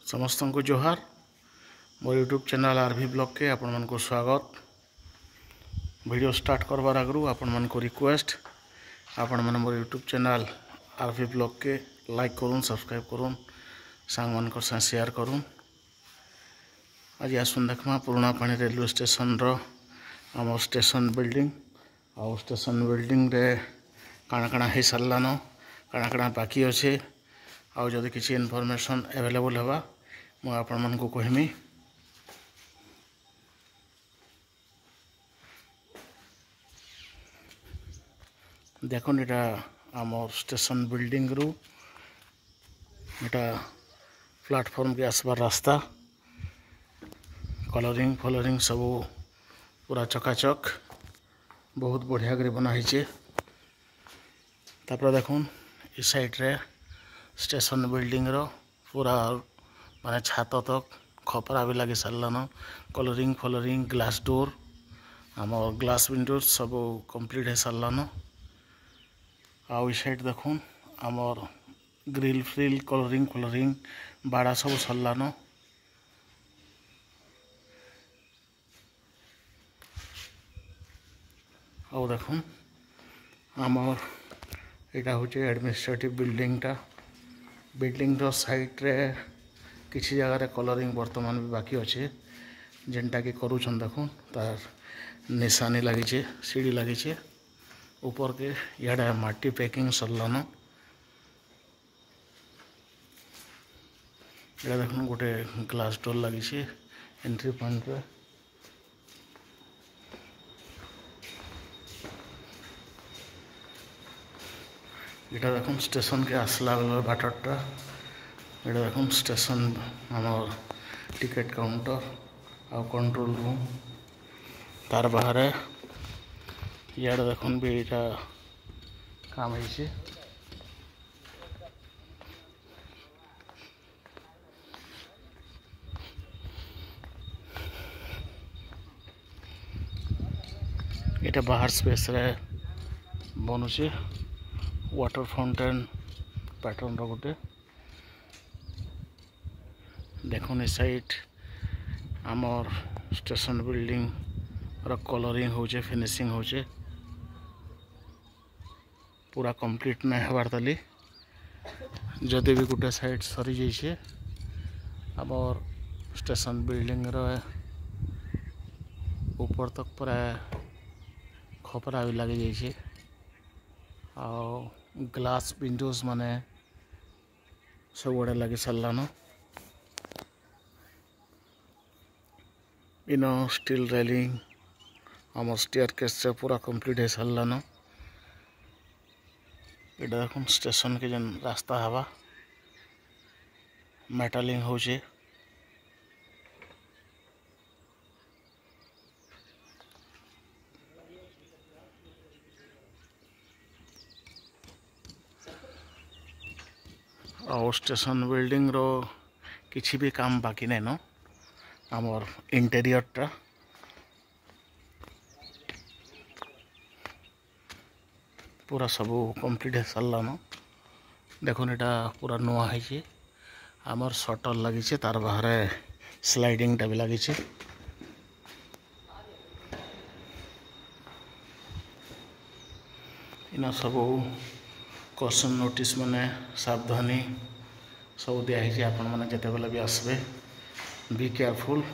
ସମସ୍ତଙ୍କୁ ଜୁହାର। ମୋର यूट्यूब चैनल आरभि ब्लॉग के ଆପଣମାନଙ୍କୁ ସ୍ୱାଗତ। वीडियो स्टार्ट କରବାର ଆଗରୁ ଆପଣମାନଙ୍କୁ रिक्वेस्ट, ଆପଣମାନେ ମୋର यूट्यूब चैनल आरभि ब्लॉग के लाइक କରୁନ୍, सब्सक्राइब କରୁନ୍, ସାଙ୍ଗମାନଙ୍କ ସାଙ୍ଗେ शेयर କରୁନ୍। ଆଜି ଆସୁନ୍ ଦେଖମା ପୁରୁଣା ପାଣି रेलवे स्टेशन ର ଆମର स्टेशन बिल्डिंग ଆଉ स्टेशन बिल्डिंग ରେ କାଣା କାଣା ହେଇ ସାରିଲାନ, କାଣା କାଣା ବାକି ଅଛେ, ଆଉ ଯଦି କିଛି इनफॉरमेशन अवेलेबल ହେବା ମୁଁ ଆପଣମାନଙ୍କୁ କହିମି। ଦେଖୁନ୍, ଏଟା ଆମର स्टेशन बिल्डिंग ରୁ ଏଟା प्लाटफॉर्म କେ ଆସବାର ରାସ୍ତା। कलरिंग ଫଲରିଂ ସବୁ ପୁରା ଚକାଚକ, ବହୁତ ବଢ଼ିଆ କରି ବନା ହେଇଛେ। ତାପରେ ଦେଖୁନ୍, ଏ ସାଇଡ୍ରେ ଷ୍ଟେସନ ବିଲ୍ଡିଂର ପୁରା ମାନେ ଛାତ ତକ୍ ଖପରା ବି ଲାଗି ସାରିଲାନ। କଲରିଂ ଫଲରିଂ, ଗ୍ଲାସ୍ ଡୋର୍, ଆମର ଗ୍ଲାସ୍ ୱିଣ୍ଡୋ ସବୁ କମ୍ପ୍ଲିଟ୍ ହେଇ ସାରିଲାନ। ଆଉ ଏ ସାଇଡ୍ ଦେଖୁନ୍, ଆମର ଗ୍ରିଲ୍ ଫ୍ରିଲ୍, କଲରିଂ ଫଲରିଂ, ବାଡ଼ା ସବୁ ସରିଲାନ। ଆଉ ଦେଖୁନ୍, ଆମର ଏଇଟା ହେଉଛି ଆଡ଼ମିନିଷ୍ଟ୍ରେଟିଭ୍ ବିଲ୍ଡିଂଟା। ବିଲ୍ଡିଂର ସାଇଡ଼୍ରେ କିଛି ଜାଗାରେ କଲରିଂ ବର୍ତ୍ତମାନ ବି ବାକି ଅଛେ, ଯେନ୍ଟାକି କରୁଛନ୍। ଦେଖୁନ୍, ତାର ନିଶାନି ଲାଗିଛେ, ସିଢ଼ି ଲାଗିଛେ ଉପରକେ। ଇଆଡ଼େ ମାଟି ପ୍ୟାକିଂ ସରିଲାନ। ଏଇଟା ଦେଖୁନ୍, ଗୋଟେ ଗ୍ଲାସ୍ ଡୋର୍ ଲାଗିছে ଏଣ୍ଟ୍ରି ପଏଣ୍ଟରେ। ଏଟା ଦେଖୁନ୍, ଷ୍ଟେସନକେ ଆସିଲା ବେଳର ବାଟଟା। ଏଟା ଦେଖୁନ୍, ଷ୍ଟେସନ ଆମର ଟିକେଟ କାଉଣ୍ଟର ଆଉ କଣ୍ଟ୍ରୋଲ ରୁମ୍। ତାର ବାହାରେ ଇଆଡ଼େ ଦେଖୁନ୍ ବି ଏଇଟା କାମ ହେଇছে। ଏଟା ବାହାର ସ୍ପେସ୍ରେ ବନୁଛେ, वाटर फाउंटेन पैटर्न ର ଗୋଟେ। ଦେଖୁନ୍, ଏ ସାଇଡ୍ ଆମର ଷ୍ଟେସନ ବିଲ୍ଡିଂ ର କଲରିଂ ହଉଛେ, ଫିନିସିଂ ହଉଛେ। ପୁରା କମ୍ପ୍ଲିଟ୍ ନାଇଁ ହେବାର୍ ତାଲି, ଯଦି ବି ଗୋଟେ ସାଇଡ୍ ସରି ଯାଇଛେ। ଆମର ଷ୍ଟେସନ ବିଲ୍ଡିଂ ର ଉପର ତକ ପୁରା ଖପରା ବି ଲାଗି ଯାଇଛେ ଆଉ ଗ୍ଲାସ୍ ୱିଣ୍ଡୋଜ୍ ମାନେ ସବୁଆଡ଼େ ଲାଗି ସାରିଲାନ। ଇନ ଷ୍ଟିଲ୍ ରେଲିଂ, ଆମର ଷ୍ଟେୟାର କେସ୍ ପୁରା କମ୍ପ୍ଲିଟ୍ ହେଇ ସାରିଲାନ। ଏଇଟା ଦେଖୁନ୍, ଷ୍ଟେସନକେ ଯେନ୍ ରାସ୍ତା ହେବା, ମେଟାଲିଂ ହଉଛେ। ଆଉ ଷ୍ଟେସନ ବିଲ୍ଡିଂର କିଛି ବି କାମ ବାକି ନାଇଁନ। ଆମର ଇଣ୍ଟେରିୟରଟା ପୁରା ସବୁ କମ୍ପ୍ଲିଟ୍ ହେଇ ସାରିଲାନ। ଦେଖୁନ୍, ଏଇଟା ପୁରା ନୂଆ ହେଇছে। ଆମର ସଟର ଲାଗିছে, ତାର ବାହାରେ ସ୍ଲାଇଡିଂଟା ବି ଲାଗିছে। ଇନ ସବୁ କସନ୍ ନୋଟିସ୍ ମାନେ ସାବଧାନୀ ସବୁ ଦିଆହେଇଛି। ଆପଣମାନେ ଯେତେବେଲେ ବି ଆସିବେ, ବି କେୟାରଫୁଲ୍।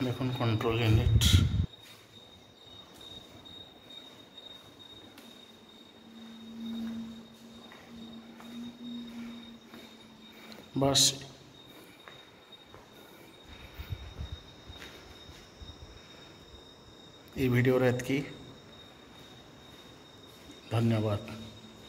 ଦେଖୁନ୍, କଣ୍ଟ୍ରୋଲ ୟୁନିଟ୍। ବାସ୍, ଏଇ ଭିଡ଼ିଓରେ ଏତିକି। ଧନ୍ୟବାଦ।